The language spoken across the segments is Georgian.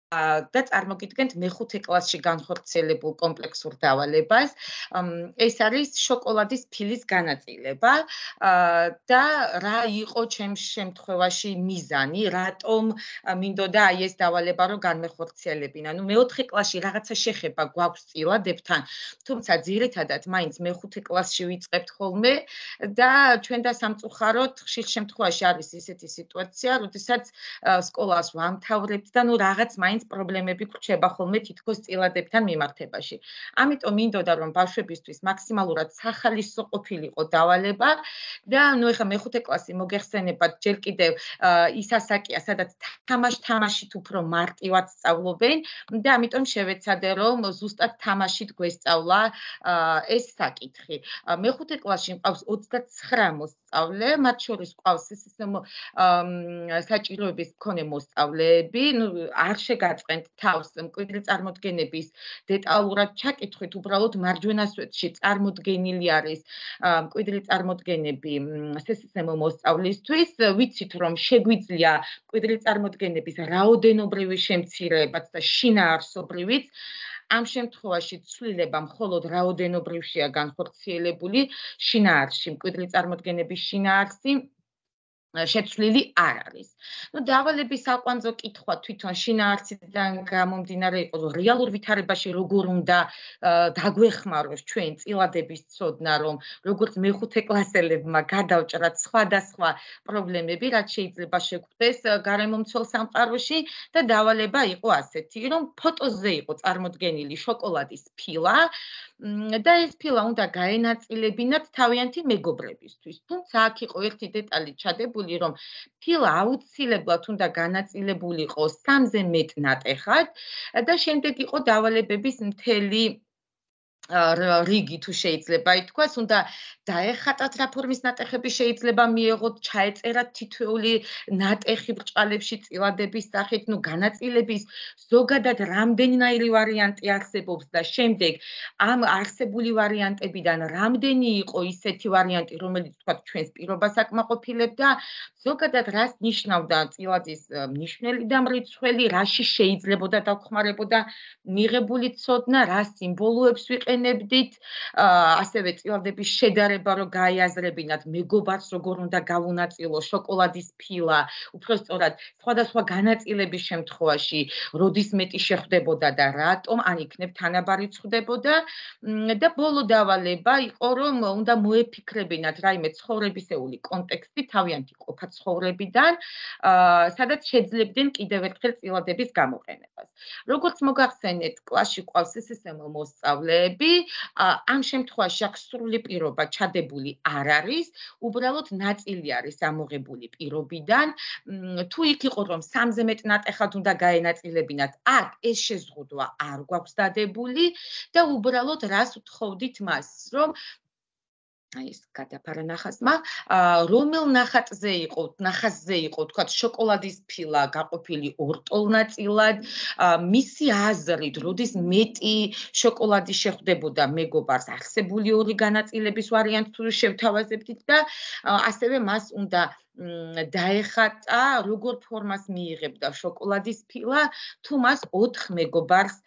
და წარმოგიდგენთ მეხუთე კლასში განხორციელებულ კომპლექსურ დავალებას. ეს არის შოკოლადის ფილის განაწილება და რა იყო ჩემს შემთხვევაში მიზანი, რატომ მინდოდა აი ეს დავალება რომ განმეხორციელებინა. მეოთხე კლასში რაღაცა შეხება გვაქვს წილადებთან, თუმცა ძირითადად მაინც მეხუთე კლასში ვიწყებთ ხოლმე და ჩვენ და სამწუხაროდ ხშირ შემთხვევაში არის ისეთი სიტუაცია, როდესაც სკოლას ვამთავრებთ და რაღაც მაინც პრობლემები გვრჩება ხოლმე თითქოს წილადებთან მიმართებაში. ამიტომ მინდოდა რომ ბავშვებისთვის მაქსიმალურად სახალისო ყოფილიყო დავალება და ეხლა მეხუთე კლასი მოგეხსენებათ ჯერ კიდევ ის ასაკია, სადაც თამაშით უფრო მარტივად სწავლობენ და ამიტომ შევეცადე რომ ზუსტად თამაშით გვესწავლა ეს საკითხი. მეხუთე კლასში მყავს 29 მოსწავლე, მათ შორის ყავს საჭიროების მქონე მოსწავლეები, არ შეგაწყენთ თავს მკვიდრი წარმოდგენების დეტალურად ჩაკითხვით, უბრალოდ მარჯვენა სვეტში წარმოდგენილი არის მკვიდრი წარმოდგენები სესისმო მოსწავლისთვის, ვიცით რომ შეგვიძლია მკვიდრი წარმოდგენების რაოდენობრივი შემცირებაც და შინაარსობრივიც. ამ შემთხვევაში ცვლილება მხოლოდ რაოდენობრივშია განხორციელებული, შინაარსში მკვიდრი წარმოდგენების შინაარსი შეცვლილი არ არის. დავალების საყვანძო კითხვა თვითონ შინაარსიდან გამომდინარე იყო, რომ რეალურ ვითარებაში როგორ უნდა დაგვეხმაროს ჩვენ წილადების ცოდნა, რომ როგორც მეხუთე კლასელებმა გადავჭრათ სხვადასხვა პრობლემები, რაც შეიძლება შეგვხვდეს გარემომცველ სამყაროში და დავალება იყო ასეთი, რომ ფოტოზე იყო წარმოდგენილი შოკოლადის ფილა და ეს ფილა უნდა გაენაწილებინათ თავიანთი მეგობრებისთვის. თუმცა აქ იყო ერთი დეტალი ჩადებული, რომ ფილა აუცილებლად უნდა განაწილებულიყო 3-ზე მეტ ნატეხად და შემდეგ იყო დავალებების მთელი რიგი თუ შეიძლება ითქვას, უნდა დაეხატათ რა ფორმის ნატეხები შეიძლება მიეღოთ, ჩაეწერათ თითოეული ნატეხი ბრჭყალებში წილადების სახით, განაწილების ზოგადად რამდენიმე ვარიანტი არსებობს და შემდეგ ამ არსებული ვარიანტებიდან რამდენი იყო ისეთი ვარიანტი, რომელიც თქვა ჩვენს პირობას აკმაყოფილებდა, ზოგადად რას ნიშნავდა წილადის მნიშვნელი და მრიცხველი, რაში შეიძლებოდა დაგხმარებოდა მიღებული ცოდნა, რა სიმბოლოებს ვიყენებდით, ასევე წილადების შედარება რომ გაიაზრებინათ მეგობარს როგორ უნდა გავუნაწილო შოკოლადის ფილა, უფრო სწორად სხვადასხვა განაწილების შემთხვევაში, როდის მეტი შეხვდებოდა და რატომ, ან იქნებ თანაბარი ხვდებოდა და ბოლო დავალება იყო რომ უნდა მოეფიქრებინათ რაიმე ცხოვრებისეული კონტექსტი თავიანთი ყოფა ცხოვრებიდან, სადაც შეძლებდნენ კიდევ ერთხელ წილადების გამოყენებას. როგორც მოგახსენეთ, კლასში ყავს სესისმო მოსწავლეები, ამ შემთხვევაში აქ სრული პირობა ჩადებული არ არის, უბრალოდ ნაწილი არის ამოღებული პირობიდან. თუ იქ იყო რომ 3-ზე მეტ ნატეხად უნდა გაენაწილებინათ, აქ ეს შეზღუდვა არ გვაქვს დადებული და უბრალოდ რას ვთხოვდით მას, რომ აი ეს გადაფარა ნახაზმა, რომელ ნახაზზე იყო, თქვა შოკოლადის ფილა გაყოფილი ორ ნაწილად, მისი აზრით, როდის მეტი შოკოლადი შეხვდებოდა მეგობარს, არსებული ორი განაწილების ვარიანტი თუ შევთავაზებდით და ასევე მას უნდა დაეხატა, როგორ ფორმას მიიღებდა შოკოლადის ფილა, თუ მას 4 მეგობარს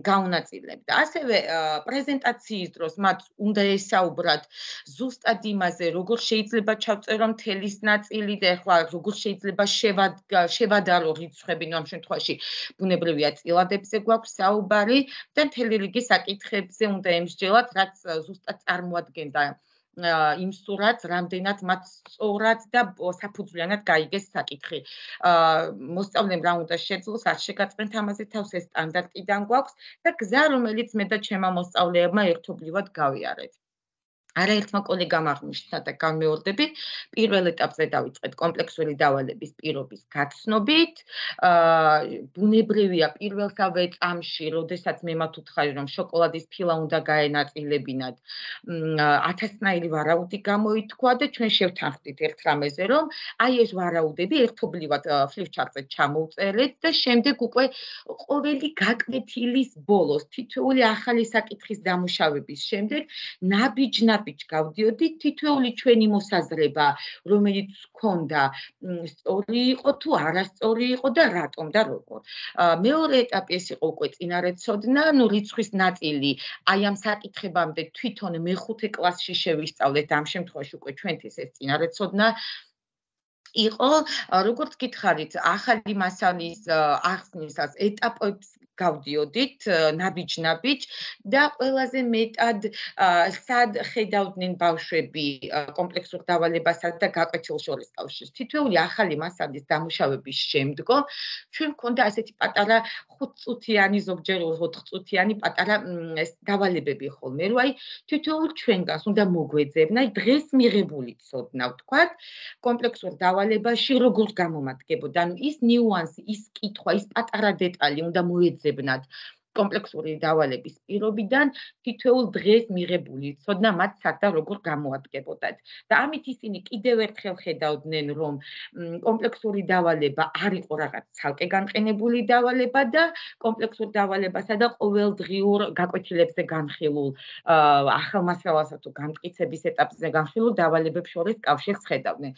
გაუნაწილებდა. ასევე პრეზენტაციის დროს მათ უნდა ესაუბრათ ზუსტად იმაზე, როგორ შეიძლება ჩავწერო მთელის ნაწილი და ახლა როგორ შეიძლება შევადარო რიცხვები, ამ შემთხვევაში ბუნებრივია წილადებზე გვაქვს საუბარი და მთელი რიგი საკითხებზე უნდა ემსჯელათ, რაც ზუსტად წარმოადგენდა იმ სურათს, რამდენად მათ სწორად და საფუძვლიანად გაიგეს საკითხი. მოსწავლემ რა უნდა შეძლოს, არ შეგაწყენთ ამაზე თავს, ეს სტანდარტიდან გვაქვს და გზა, რომელიც მე და ჩემმა მოსწავლეებმა ერთობლივად გავიარეთ. არაერთმა კოლეგამ აღნიშნა და განმეორდები, პირველ ეტაპზე დავიწყეთ კომპლექსური დავალების პირობის გაცნობით. ბუნებრივია პირველსავე წამში, როდესაც მე მათ ვუთხარი, რომ შოკოლადის ფილა უნდა გაენაწილებინათ, 1000-ნაირი ვარაუდი გამოითქვა და ჩვენ შევთანხმდით ერთ რამეზე, რომ აი ეს ვარაუდები ერთობლივად ფლიპჩარტზე ჩამოვწერეთ და შემდეგ უკვე ყოველი გაკვეთილის ბოლოს, თითოეული ახალი საკითხის დამუშავების შემდეგ ნაბიჯნად ნაბიჯ გავდიოდით, თითოეული ჩვენი მოსაზრება, რომელიც გქონდა, სწორი იყო თუ არასწორი იყო და რატომ და როგორ. მეორე ეტაპი ეს იყო უკვე წინარეცოდნა, რიცხვის ნაწილი აი ამ საკითხებამდე თვითონ მეხუთე კლასში შევისწავლეთ, ამ შემთხვევაში უკვე ჩვენთვის ეს წინარეცოდნა იყო, როგორც გითხარით, ახალი მასალის ახსნისას ეტაპებს გავდიოდით, ნაბიჯ-ნაბიჯ და ყველაზე მეტად სად ხედავდნენ ბავშვები კომპლექსურ დავალებასა და გაკვეთილ შორის კავშირს. თითოეული ახალი მასალის დამუშავების შემდგომ ჩვენ გვქონდა ასეთი პატარა 5 წუთიანი, ზოგჯერ 4 წუთიანი პატარა დავალებები ხოლმე, რომ აი თითოეულ ჩვენგანს უნდა მოგვეძებნა დღეს მიღებული ცოდნა, ვთქვათ, კომპლექსურ დავალებაში როგორ გამომადგებოდა. ანუ ის ნიუანსი, ის კითხვა, ის პატარა დეტალი უნდა მოეძებნათ კომპლექსური დავალების პირობიდან თითოეულ დღეს მიღებული ცოდნა მათ სად და როგორ გამოადგებოდათ. და ამით ისინი კიდევ ერთხელ ხედავდნენ, რომ კომპლექსური დავალება არ იყო რაღაც ცალკე განყენებული დავალება და კომპლექსურ დავალებასა და ყოველდღიურ გაკვეთილებზე განხილულ ახალ მასალასა თუ განმტკიცების ეტაპზე განხილულ დავალებებს შორის კავშირს ხედავდნენ.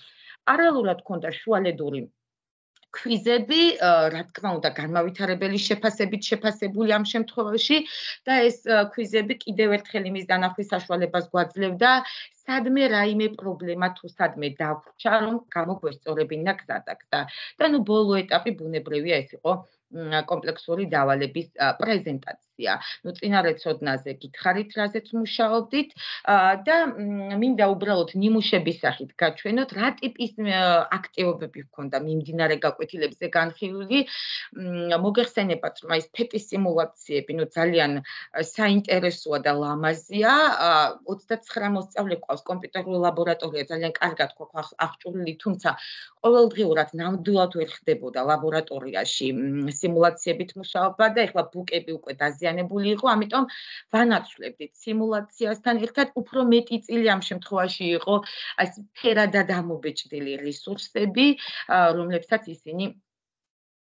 პარალელურად ჰქონდა შუალედური ქვიზები, რა თქმა უნდა, განმავითარებელი შეფასებით შეფასებული ამ შემთხვევაში და ეს ქვიზები კიდევ ერთხელ იმის დანახვის საშუალებას გვაძლევდა, სადმე რაიმე პრობლემა თუ სადმე დაგვრჩა, რომ გამოგვესწორებინა გზადაგდა. და ბოლო ეტაპი ბუნებრივია ეს იყო კომპლექსური დავალების პრეზენტაცია. წინარეცოდნაზე გითხარით, რაზეც მუშაობდით და მინდა უბრალოდ ნიმუშების სახით გაჩვენოთ, რა ტიპის აქტივობები ჰქონდა მიმდინარე გაკვეთილებზე განხილული. მოგეხსენებათ, რომ ეს ფეტის სიმულაციები ძალიან საინტერესოა და ლამაზია. 29 მოსწავლე ყავს, კომპიუტერული ლაბორატორია ძალიან კარგად გვაქვს აღჭურვილი, თუმცა ყოველდღიურად ნამდვილად ვერ ხდებოდა ლაბორატორიაში სიმულაციებით მუშაობა და ეხლა ბუკები უკვე დაზიანებული იყო, ამიტომ ვანაცვლებდით სიმულაციასთან ერთად უფრო მეტი წილი ამ შემთხვევაში იყო ეს ფერადად ამობეჭდილი რესურსები, რომლებსაც ისინი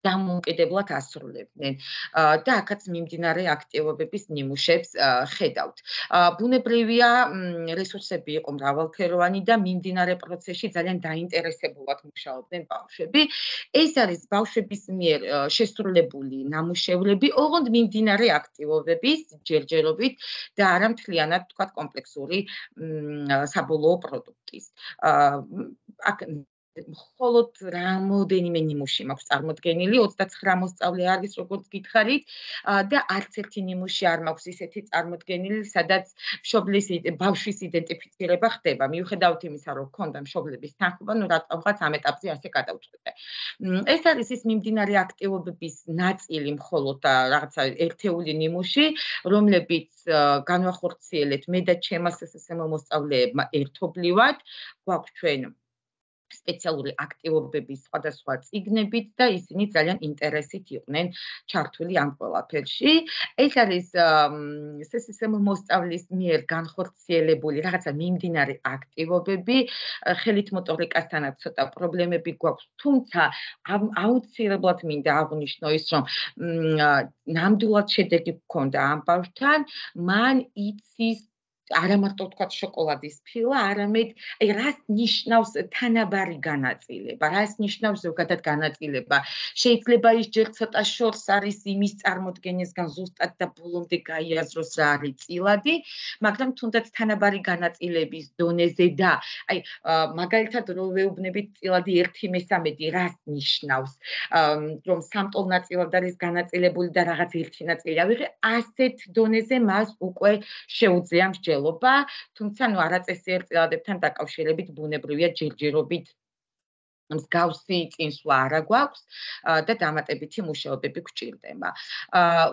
დამოუკიდებლად ასრულებდნენ და აქაც მიმდინარე აქტივობების ნიმუშებს ხედავთ. ბუნებრივია, რესურსები იყო მრავალფეროვანი და მიმდინარე პროცესში ძალიან დაინტერესებულად მუშაობდნენ ბავშვები. ეს არის ბავშვების მიერ შესრულებული ნამუშევრები, ოღონდ მიმდინარე აქტივობების ჯერჯერობით და არა მთლიანად, თქვათ, კომპლექსური საბოლოო პროდუქტის. აქ მხოლოდ რამოდენიმე ნიმუში მაქვს წარმოდგენილი, 29 მოსწავლე არის, როგორც გითხარით, და არც ერთი ნიმუში არ მაქვს ისეთი წარმოდგენილი, სადაც მშობლის ბავშვის იდენტიფიცირება ხდება. მიუხედავად იმისა, რომ ჰქონდა მშობლების თანხმობა, რატომღაც ამ ეტაპზე ასე გადავწყვიტე. ეს არის ის მიმდინარე აქტივობების ნაწილი მხოლოდ რაღაცა ერთეული ნიმუში, რომლებიც განვახორციელეთ მე და ჩემმა SSSM მოსწავლეებმა ერთობლივად. გვაქვს ჩვენ სპეციალური აქტივობების სხვადასხვა წიგნებით და ისინი ძალიან ინტერესით იყვნენ ჩართული ამ ყველაფერში. ეს არის SSSM მოსწავლის მიერ განხორციელებული რაღაცა მიმდინარე აქტივობები, ხელით მოტორიკასთანაც ცოტა პრობლემები გვაქვს, თუმცა აუცილებლად მინდა აღვნიშნო ის, რომ ნამდვილად შედეგი გქონდა ამ ბავშვთან, მან იცის არა მარტო თქვათ შოკოლადის ფილა, არამედ აი რას ნიშნავს თანაბარი განაწილება, რას ნიშნავს ზოგადად განაწილება. შეიძლება ის ჯერ ცოტა შორს არის იმის წარმოდგენისგან ზუსტად და ბოლომდე გაიაზროს რა არის წილადი, მაგრამ თუნდაც თანაბარი განაწილების დონეზე და აი მაგალითად რო ვეუბნებით წილადი 1/3 რას ნიშნავს, რომ სამტოლ ნაწილად არის განაწილებული და რაღაც ერთი ნაწილი ავიღე, ასეთ დონეზე მას უკვე შეუძლია თუმცა არაწესი ერთწილადებთან დაკავშირებით ბუნებრივია ჯერჯერობით მსგავსი წინსვლა არა გვაქვს და დამატებითი მუშაობები გვჭირდება.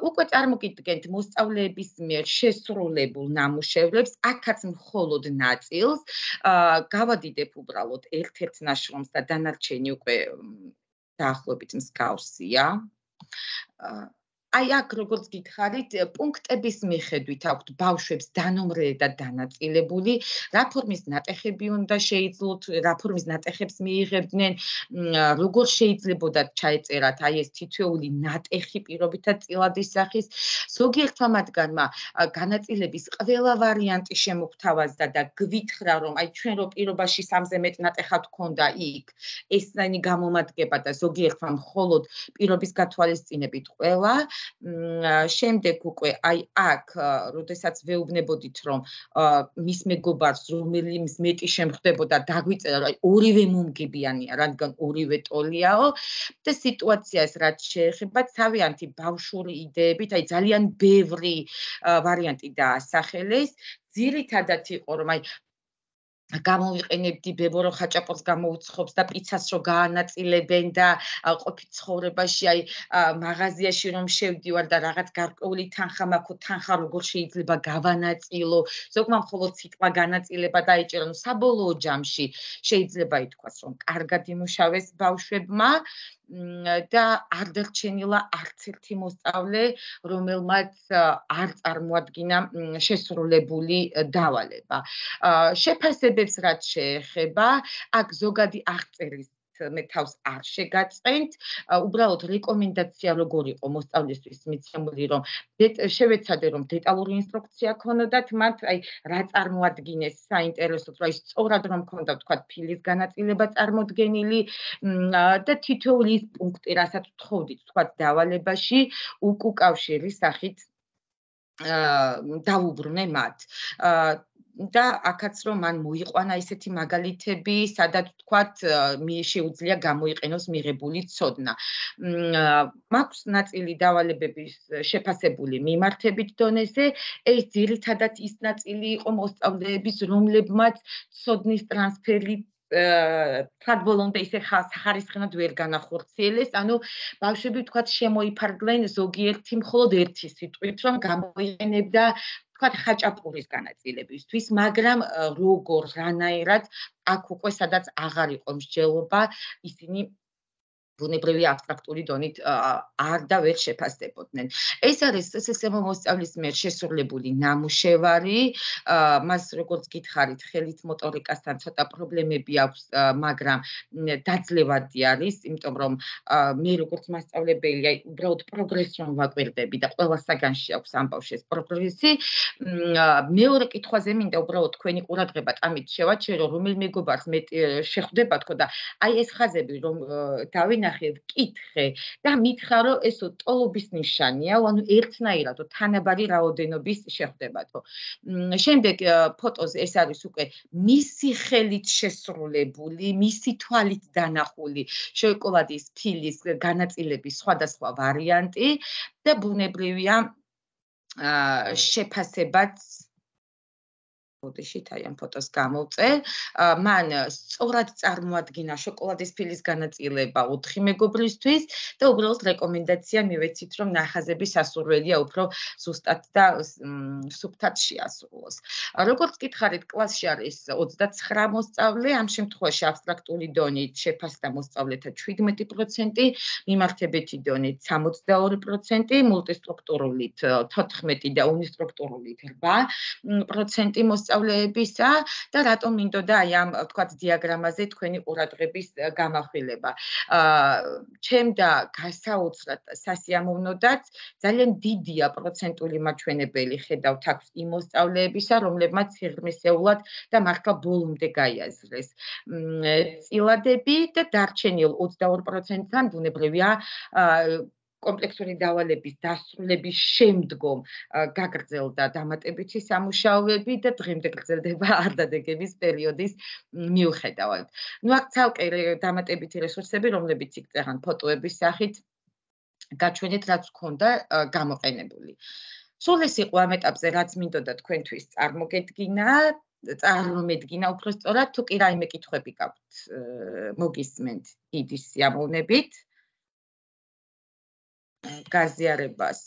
უკვე წარმოგიდგენთ მოსწავლეების მიერ შესრულებულ ნამუშევრებს, აქაც მხოლოდ ნაწილს, გავადიდებ უბრალოდ ერთ-ერთ ნაშრომს და დანარჩენი უკვე დაახლოებით მსგავსია. აი აქ როგორც გითხარით, პუნქტების მიხედვით აქვთ ბავშვებს დანომრილი და დანაწილებული, რა ფორმის ნატეხები უნდა შეიძლოთ, რა ფორმის ნატეხებს მიიღებდნენ, როგორ შეიძლებოდა ჩაეწერათ აი ეს თითოეული ნატეხი პირობითად წილადის სახის. ზოგიერთმა მათგანმა განაწილების ყველა ვარიანტი შემოგთავაზდა და გვითხრა, რომ აი ჩვენ რო პირობაში 3-ზე მეტ ნატეხად გქონდა იქ, ესენი გამომადგება და ზოგიერთმა მხოლოდ პირობის გათვალისწინებით ყველა. შემდეგ უკვე აი აქ, როდესაც ვეუბნებოდით, რომ მის მეგობარს რომელიმის მეტი შემხვდებოდა, დაგვიწერა, რომ აი ორივე მომგებიანია, რადგან ორივე ტოლიაო და სიტუაცია ეს რაც შეეხება თავიანთი ბავშვური იდეებით, აი ძალიან ბევრი ვარიანტი დაასახელეს. ძირითადად იყო, რომ აი გამოვიყენებდი ბებო რო ხაჭაპურს გამოუცხობს და პიცას რო გაანაწილებენ და ყოფით ცხოვრებაში აი მაღაზიაში რომ შევდივარ და რაღაც გარკვეული თანხა მაქვს, თანხა როგორ შეიძლება გავანაწილო, ზოგმა მხოლოდ სიტყვა განაწილება დაიჭირა, ну საბოლოო ჯამში შეიძლება ითქვას, რომ კარგად იმუშავეს ბავშვებმა და არ დარჩენილა არც ერთი მოსწავლე, რომელმაც არ წარმოადგინა შესრულებული დავალება. შეფასებებს რაც შეეხება, აქ ზოგადი აღწერის მე თავს არ შეგაწყენთ, უბრალოდ რეკომენდაცია როგორ იყო მოსწავლისთვის მიცემული, რომ შევეცადე, რომ დეტალური ინსტრუქცია ქონოდათ მათ, აი რა წარმოადგინეს საინტერესოდ, რომ აი სწორად რომ ქონდა თქვათ ფილის განაწილება წარმოდგენილი და თითოეული ის პუნქტი, რასაც ვთხოვდით თქვათ დავალებაში, უკავშირის სახით დავუბრუნე მათ. და აქაც რომ მან მოიყვანა ისეთი მაგალითები, სადაც თქვათ შეუძლია გამოიყენოს მიღებული ცოდნა. მაქვს ნაწილი დავალებების შეფასებული მიმართებით დონეზე, ეს ძირითადად ის ნაწილი იყო მოსწავლეების, რომლებმაც ცოდნის ტრანსფერი თქვათ ბოლომდე ისე ხარისხენად ვერ განახორციელეს, ანუ ბავშვები თქვათ შემოიფარგლენ ზოგიერთი მხოლოდ ერთი სიტყვით, რომ გამოიყენებდა თქვათ ხაჭაპურის განაწილებისთვის, მაგრამ როგორ, რანაირად აქ უკვე სადაც აღარ იყო მსჯელობა, ისინი ბუნებრივი აბსტრაქტული დონით არ და ვერ შეფასდებოდნენ. ეს არის SSM მოსწავლის მიერ შესრულებული ნამუშევარი, მას როგორც გითხარით, ხელით მოტორიკასთან ცოტა პრობლემები აქვს, მაგრამ დაძლევადი არის, იმიტომ რომ მე როგორც მასწავლებელი, აი უბრალოდ პროგრესს რომ ვაკვირდები და ყველა საგანში აქვს ამ ბავშვს პროგრესი, მეორე კითხვაზე მინდა უბრალოდ თქვენი ყურადღება ამით შევაჩერო, რომელ მეგობარს მეტი შეხვდება თქო და აი ეს ხაზები რომ დავინახე, ვკითხე და მითხრა, რომ ესო ტოლობის ნიშანია, ანუ ერთნაირადო თანაბარი რაოდენობის შეხვდებათო. შემდეგ ფოტოზე ეს არის უკვე მისი ხელით შესრულებული, მისი თვალით დანახული შოკოლადის ფილის განაწილების სხვადასხვა ვარიანტი და ბუნებრივია შეფასებაც ბოდიშით აი ამ ფოტოს გამოვწე. მან სწორად წარმოადგინა შოკოლადის ფილის განაწილება 4 მეგობრისთვის და უბრალოდ რეკომენდაცია მივეცით, რომ ნახაზები სასურველია უფრო ზუსტად და სუფთად შეასრულოს. როგორც გითხარით, კლასში არის 29 მოსწავლე, ამ შემთხვევაში აბსტრაქტული დონით შეფასდა მოსწავლეთა 17%, მიმართებითი დონით 62%, მულტისტრუქტურულით 14 და უნისტრუქტურულით 8% მოსწავლეებისა და რატომ მინდოდა აი ამ თქვათ დიაგრამაზე თქვენი ყურადღების გამახვილება. ჩემდა გასაოცრად სასიამოვნოდაც ძალიან დიდია პროცენტული მაჩვენებელი ხედავთ აქვს იმ მოსწავლეებისა, რომლებმაც სიღრმისეულად და მართლა ბოლომდე გაიაზრეს წილადები და დარჩენილ 22%-თან ბუნებრივია კომპლექსური დავალების დასრულების შემდგომ გაგრძელდა დამატებითი სამუშაოები და დღემდე გრძელდება არდადეგების პერიოდის მიუხედავად. ნუ აქ ცალკე დამატებითი რესურსები, რომლებიც იქ ფოტოების სახით გაჩვენეთ, რაც გქონდა გამოყენებული. სულ ეს იყო ამ ეტაპზე, რაც მინდოდა თქვენთვის წარმომედგინა უფრო სწორად, თუ კი რაიმე კითხვები გაქვთ, მოგისმენთ დიდი სიამოვნებით. გაზიარებას